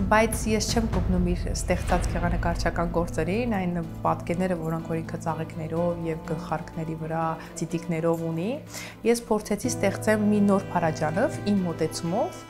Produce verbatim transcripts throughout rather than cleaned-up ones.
Բայց ես չեմ կողնում իր ստեղծած գեղանկարչական գործերին, այն պատկերները, որոնք որ ինքը ծաղիկներով եւ գլխարկների վրա ցիտիկներով ունի, ես փորձեցի ստեղծեմ մի նոր փարաջանով իմ մոտեցումով։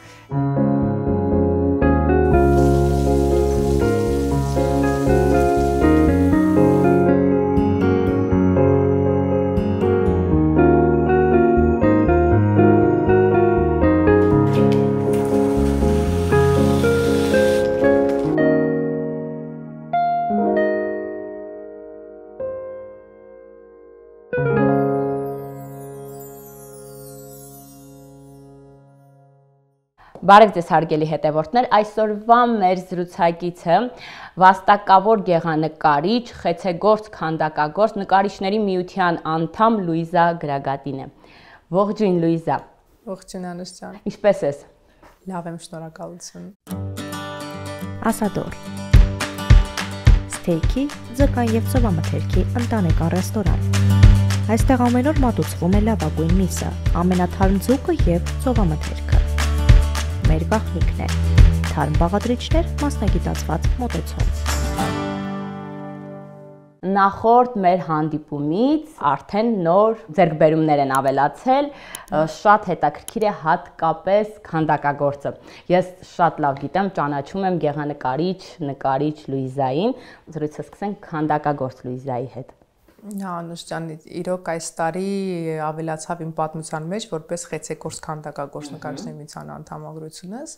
Բարև ձեզ հարգելի հետևորդներ, այսօրվա մեր զրուցակիցը վաստակավոր գեղանկարիչ, խեցեգործ, քանդակագործ, նկարիչների միության անդամ Լուիզա Գրագատին է։ Ողջույն Լուիզա։ Ողջույն Անուշ ջան։ Ինչպե՞ս ես։ Լավ եմ, շնորհակալություն։ Ասադոր Ստեյքի, ձկան եւ ծովամթերքի ընտանեկան ռեստորան։ Այստեղ ամեն օր մատուցվում է լավագույն միսը, ամենաթարմ ձուկը եւ ծովամթերքը։ Մեր գաղտնիքն է, թարմ բաղադրիչներ, մասնագիտացված մոտեցում։ Նախորդ մեր հանդիպումից արդեն նոր ձեռքբերումներ են ավելացել, շատ հետաքրքիր է հատկապես քանդակագործը։ Ես շատ լավ գիտեմ, ճանաչում եմ գեղանկարիչ, նկարիչ Լուիզային, զրույցը սկսենք քանդակագործ Լուիզայի հետ։ Անուշ ջան, իրոք այս տարի ավելացավ իմ պատմության մեջ որպես խեցեգործ քանդակագործ նկարիչների միության անդամագրությունս։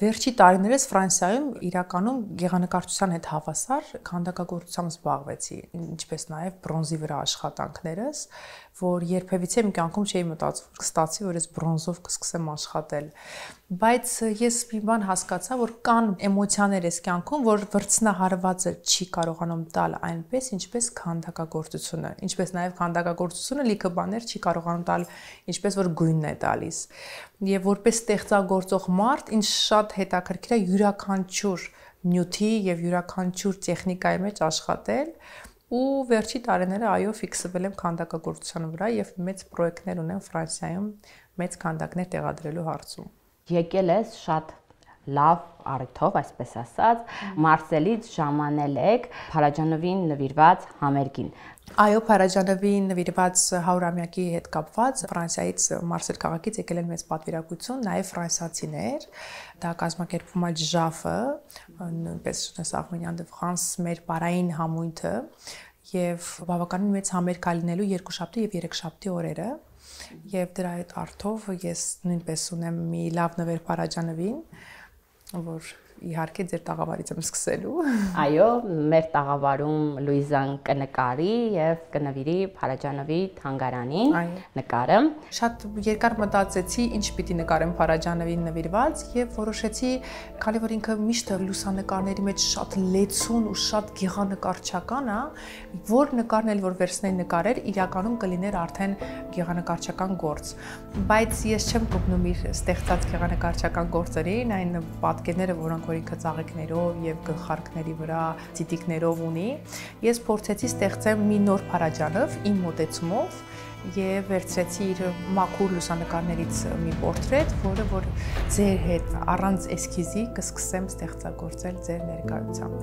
Վերջի տարիներս Ֆրանսիայում իրականում գեղանկարչության հետ հավասար քանդակագործությամբ զբաղվեցի, ինչպես նաև բրոնզի վրա աշխատանքներս, որ երբևիցե իմ կյանքում չէի մտածում, կստացի, որ ես բրոնզով կսկսեմ աշխատել։ Բայց ես մի բան հասկացա, որ կան էմոցիաներ այս կյանքում, որ վրձնահարվածը չի կարողանում տալ այնպես, ինչպես քանդակագործությունը, ինչպես նաև քանդակագործությունը լիքը բաներ չի կարողանում տալ, ինչպես որ գույնն է տալիս։ Եվ որպես ստեղծագործող մարդ, ինձ շատ հետաքրքիր է յուրաքանչյուր նյութի եւ յուրաքանչյուր տեխնիկայի մեջ աշխատել, ու վերջի տարիները այո ֆիքսվել եմ քանդակագործության վրա եւ մեծ պրոյեկտներ ունեմ Ֆրանսիայում մեծ քանդակներ տեղադրելու հարցում։ Եկել ես շատ լավ առիթով, այսպես ասած, Մարսելից ժամանել եք Փարաջանովին նվիրված համերգին։ Այո, Փարաջանովին նվիրված հարյուրամյակի հետ կապված Ֆրանսիայից Մարսել քաղաքից եկել են մեծ պատվիրակություն, նաև ֆրանսիացիներ, դա կազմակերպվում է ԺԱՖ-ը, նույնպես Arméniens de France մեր պարային համույթը, եւ բավականին մեծ համերգ կլինելու երկուշաբթի եւ երեքշաբթի օրերը, եւ դրա հետ արդով ես նույնպես ունեմ մի լավ նվեր Փարաջանովին, որ իհարկե ձեր տաղավարից եմ սկսելու։ Այո, մեր տաղավարում Լուիզան կնկարի եւ կնվիրի Փարաջանովի թանգարանին նկարը։ Շատ երկար մտածեցի, ինչ պիտի նկարեմ Փարաջանովին նվիրված եւ որոշեցի, քանի որ ինքը միշտ լուսանկարների մեջ շատ լեցուն ու շատ գեղանկարչական է, որ նկարն էլ որ վերցնեի նկարեր, իրականում կլիներ արդեն գեղանկարչական գործ։ Բայց ես չեմ կողնում իր ստեղծած գեղանկարչական գործերին, այն պատկերները, որոնք ինքը ծաղիկներով եւ գլխարկների վրա ցիտիկներով ունի, ես փորձեցի ստեղծեմ մի նոր փարաջանով իմ մոտեցումով եւ վերցրեցի իր մաքուր լուսանկարներից մի պորտրետ, որը որ ձեր հետ առանց էսքիզի կսկսեմ ստեղծագործել ձեր ներկայությամբ։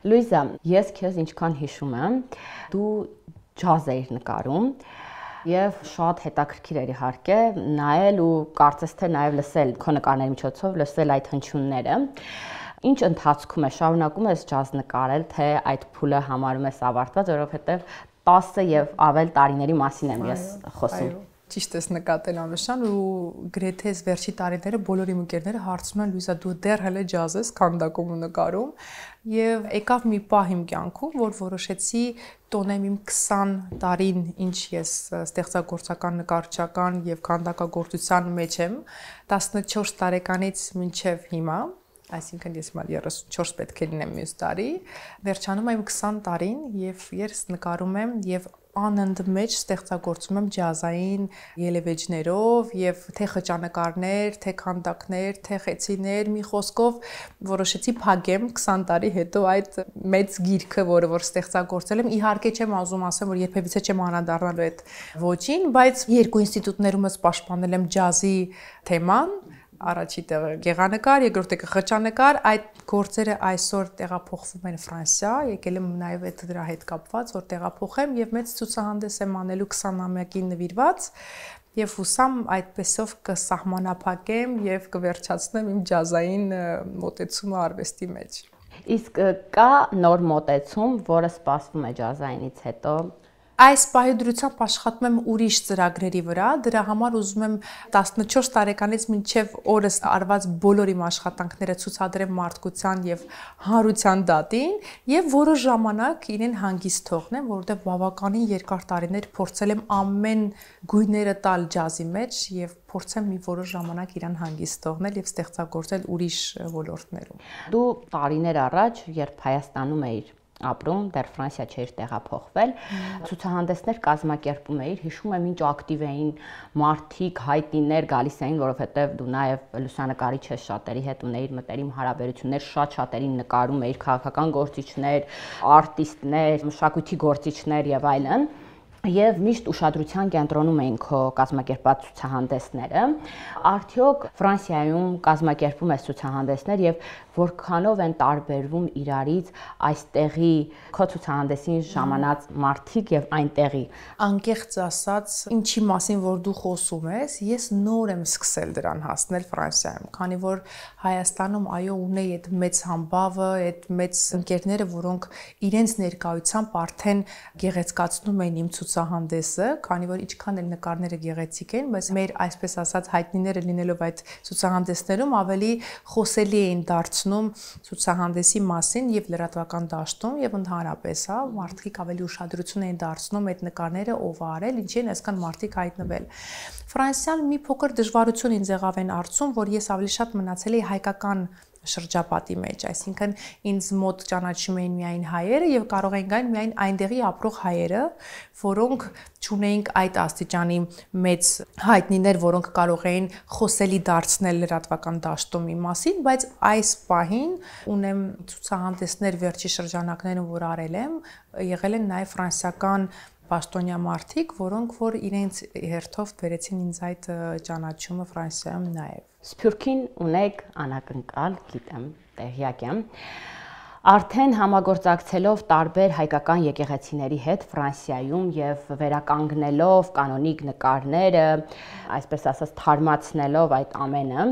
Լուիզա, ես քեզ ինչքան հիշում եմ, դու ջազ էիր նկարում եւ շատ հետաքրքիր էր իհարկե նայել ու կարծես թե նաեւ լսել քո նկարների միջոցով լսել այդ հնչյունները։ Ինչ ընթացքում է շարունակում ես ջազ նկարել, թե այդ փուլը համարում ես ավարտված, որովհետեւ տասը եւ ավել տարիների մասին եմ ես խոսում։ Ճիշտ ես նկատել Անուշան, ու գրեթե վերջի տարիները բոլոր իմ ընկերները հարցնում են Լուիզա, դու դեռ հələ ջազ ես քանդակում ու նկարում, եւ եկավ մի պահ իմ կյանքում, որ որոշեցի տոնեմ իմ քսան տարին, ինչ ես ստեղծագործական նկարչական եւ քանդակագործության մեջ եմ, տասնչորս տարեկանից մինչեւ հիմա, այսինքն ես մալ երեսունչորս պետք է լինեմ մյուս տարի, վերջանում եմ քսան տարին եւ ես նկարում եմ եւ անընդմեջ ստեղծագործում եմ ջազային ելևէջներով եւ թե խճանկարներ, թե քանդակներ, թե խեցիներ, մի խոսքով որոշեցի փակեմ քսան տարի հետո այդ մեծ գիրքը, որը որ ստեղծագործել եմ, իհարկե չեմ ուզում ասեմ, որ երբևիցե չեմ անդառնալու այդ ոճին, բայց երկու ինստիտուտներումս պաշտպանել եմ ջազի թեման, առաջի տեղը գեղանկար, երկրորդ տեղը խճանկար, այդ գործերը այսօր տեղափոխվում են Ֆրանսիա, եկել եմ նաև այդ դրա հետ կապված, որ տեղափոխեմ եւ մեծ ցուցահանդես եմ անելու քսանամյակին նվիրված եւ հուսամ այդպեսով կսահմանափակեմ եւ կվերջացնեմ իմ ջազային մոտեցումը արվեստի մեջ։ Իսկ կա նոր մոտեցում, որը սպասվում է ջազայինից հետո։ Այս պահի դրությամբ աշխատում եմ ուրիշ ծրագրերի վրա, դրա համար ուզում եմ տասնչորս տարեկանից մինչև օրս արված բոլոր իմ աշխատանքները ցուցադրեմ մարդկության եւ հանրության դատին եւ որոշ ժամանակ իրեն հանգիստ թողնեմ, որովհետեւ բավականին երկար տարիներ փորձել եմ ամեն գույները տալ ջազի մեջ եւ փորձեմ մի որոշ ժամանակ իրան հանգիստ թողնել եւ ստեղծագործել ուրիշ ոլորտներում։ Դու տարիներ առաջ, երբ Հայաստանում էիր ապրում, դեռ Ֆրանսիա չէր տեղափոխվել, ցուցահանդեսներ կազմակերպում էիր, հիշում եմ ինչ ակտիվ էին մարդիկ, հայտնիներ գալիս էին, որովհետև դու նաև լուսանկարիչ ես, շատերի հետ ունեիր մտերիմ հարաբերություններ, շատ շատերին նկարում էիր, քաղաքական գործիչներ, արտիստներ, մշակույթի գործիչներ եւ այլն։ Եվ միշտ ուշադրության կենտրոնում էին քո կազմակերպած ցուցահանդեսները։ Արդյոք Ֆրանսիայում կազմակերպում ես ցուցահանդեսներ եւ որքանով են տարբերվում իրարից այստեղի քո ցուցահանդեսին ժամանած մարդիկ եւ այնտեղի։ Անկեղծ ասած, ինչի մասին որ դու խոսում ես, ես նոր եմ սկսել դրան հասնել Ֆրանսիայում, քանի որ Հայաստանում այո ունեի այդ մեծ համբավը, այդ մեծ ընկերները, որոնք իրենց ներկայությամբ արդեն գեղեցկացնում էին իմ ցուցահանդեսը, քանի որ ինչքան էլ նկարները գեղեցիկ են, բայց մեր այսպես ասած հայտնիները լինելով այդ ցուցահանդեսներում ավելի խոսելի էին դարձնում ցուցահանդեսի մասին եւ լրատվական դաշտում եւ ընդհանրապես, հա, մարդիկ ավելի ուշադրություն էին դարձնում այդ նկարները ով է արել, ինչի են այսքան մարդիկ հայտնվել։ Ֆրանսիան մի փոքր դժվարություն ինձ եղավ այն արծում, որ ես ավելի շատ մնացել էի հայկական շրջապատի մեջ, այսինքն ինձ մոտ ճանաչում էին միայն հայերը եւ կարող էին գալ միայն այնտեղի ապրող հայերը, որոնք չունեին այդ աստիճանի մեծ հայտնիներ, որոնք կարող էին խոսելի դարձնել լրատվական դաշտում իմ մասին, բայց այս պահին ունեմ ցուցահանդեսներ վերջի շրջանակներում, որ արել եմ, եղել են նաեւ ֆրանսիական պաշտոնյա մարդիկ, որոնք որ իրենց հերթով բերեցին ինձ այդ ճանաչումը Ֆրանսիայում նաեւ։ Սփյուռքին ունեք անակնկալ, գիտեմ, տեղյակ եմ։ Արդեն համագործակցելով տարբեր հայկական եկեղեցիների հետ Ֆրանսիայում եւ վերականգնելով կանոնիկ նկարները, այսպես ասած թարմացնելով այդ ամենը,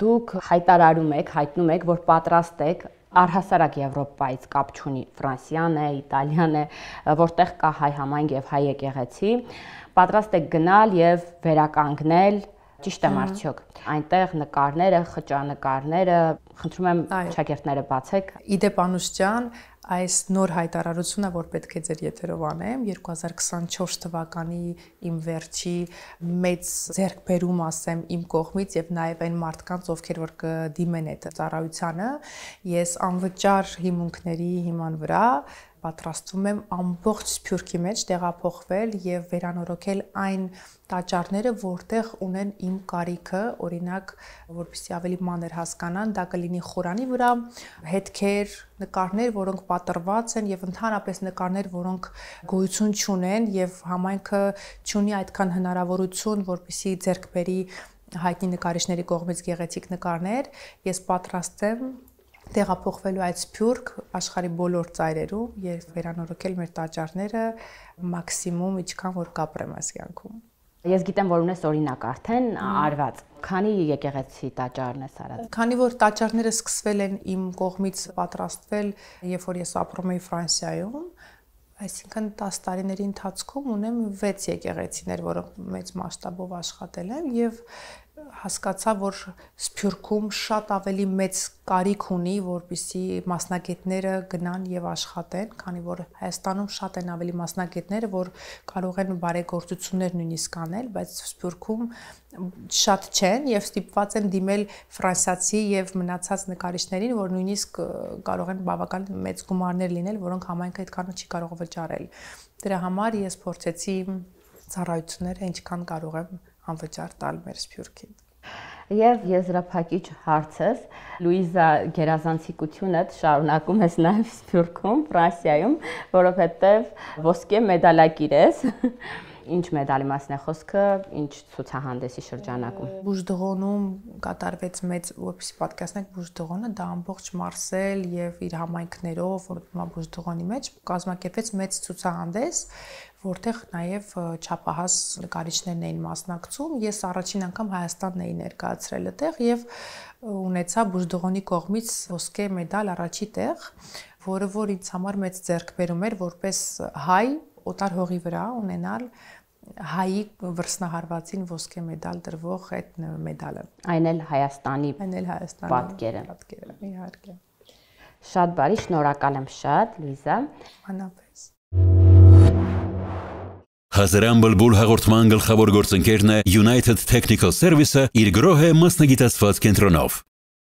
դուք հայտարարում եք, հայտնում եք, որ պատրաստ եք առհասարակ Եվրոպայից կապ չունի Ֆրանսիան է, Իտալիան է, որտեղ կա հայ համայնք եւ հայ եկեղեցի, պատրաստ եք գնալ եւ վերականգնել, ճիշտ եմ արդյոք, այնտեղ նկարները, խճանկարները, խնդրում եմ շակերտները բացեք։ Իդեպ Անուշ ջան, այս նոր հայտարարությունը, որ պետք է ձեր եթերով անեմ, երկու հազար քսանչորս թվականի իմ վերջի մեծ ձեռքբերում ասեմ իմ կողմից եւ նաեւ այն մարդկանց, ովքեր որ կդիմեն այդ ծառայությանը, ես անվճար հիմունքների հիման վրա պատրաստվում եմ ամբողջ Սփյուռքի մեջ տեղափոխվել եւ վերանորոգել այն տաճարները, որտեղ ունեն իմ կարիքը, օրինակ, որպեսզի ավելի մանր հասկանան, դա կլինի խորանի վրա, հետքեր, նկարներ, որոնք պատրված են եւ ընդհանրապես նկարներ, որոնք գոյություն չունեն եւ համայնքը չունի այդքան հնարավորություն, որպեսզի ձեռք բերի հայտնի նկարիչների կողմից գեղեցիկ նկարներ, ես պատրաստ եմ տեղափոխվելու այդ Սփյուռք աշխարհի բոլոր ծայրերում եւ վերանորոգել մեր տաճարները մաքսիմում ինչքան որ կապրեմ այս կյանքում։ Ես գիտեմ, որ ունես օրինակ արդեն արված։ Քանի եկեղեցի տաճարն ես արած։ Քանի որ տաճարները սկսվել են իմ կողմից պատրաստվել, երբ որ ես ապրում էի Ֆրանսիայում, այսինքն տասը տարիների ընթացքում ունեմ վեց եկեղեցիներ, որոնք մեծ մասշտաբով աշխատել եմ եւ հասկացա, որ Սփյուռքում շատ ավելի մեծ կարիք ունի, որպեսզի մասնագետները գնան եւ աշխատեն, քանի որ Հայաստանում շատ են ավելի մասնագետները, որ կարող են բարեգործություններ նույնիսկ անել, բայց Սփյուռքում շատ չեն եւ ստիպված են դիմել ֆրանսիացի եւ մնացած նկարիչներին, որ նույնիսկ կարող են բավական մեծ գումարներ լինել, որոնք համայնքը այդքանը չի կարող վճարել։ Դրա համար ես փորձեցի ծառայությունները ինչքան կարող եմ անվճար տալ մեր Սփյուռքին։ Եվ եզրափակիչ հարցս, Լուիզա, գերազանցիկությունը շարունակում ես նաև Սփյուռքում, Ֆրանսիայում, որովհետև ոսկե մեդալակիր ես։ Ինչ մեդալի մասն է խոսքը, ինչ ցուցահանդեսի շրջանակում։ Բուժդղոնում կատարվեց մեծ, որպեսզի պատկերացնեք Բուժդղոնը, դա ամբողջ Մարսել եւ իր համայնքներով, որ հիմա Բուժդղոնի մեջ կազմակերպվեց մեծ ցուցահանդես, որտեղ նաև չափահաս նկարիչներն էին մասնակցում։ Ես առաջին անգամ Հայաստանն էի ներկայացրել այդտեղ եւ ունեցա Բուժդղոնի կողմից ոսկե մեդալ առաջի տեղ, որը որ ինձ համար մեծ ձեռքբերում էր որպես հայ օտար հողի վրա ունենալ հայի վրձնահարվածին ոսկե մեդալ դրվող այդ մեդալը։ Այն էլ Հայաստանի Այն էլ Հայաստանի պատկերը։ Պատկերը, իհարկե։ Շատ բարի, շնորհակալ եմ շատ, Լուիզա։ Անապես։ Հազարան բլբուլ հաղորդման գլխավոր գործընկերն է United Technical Service-ը իր գրոհ է մասնագիտացված կենտրոնով։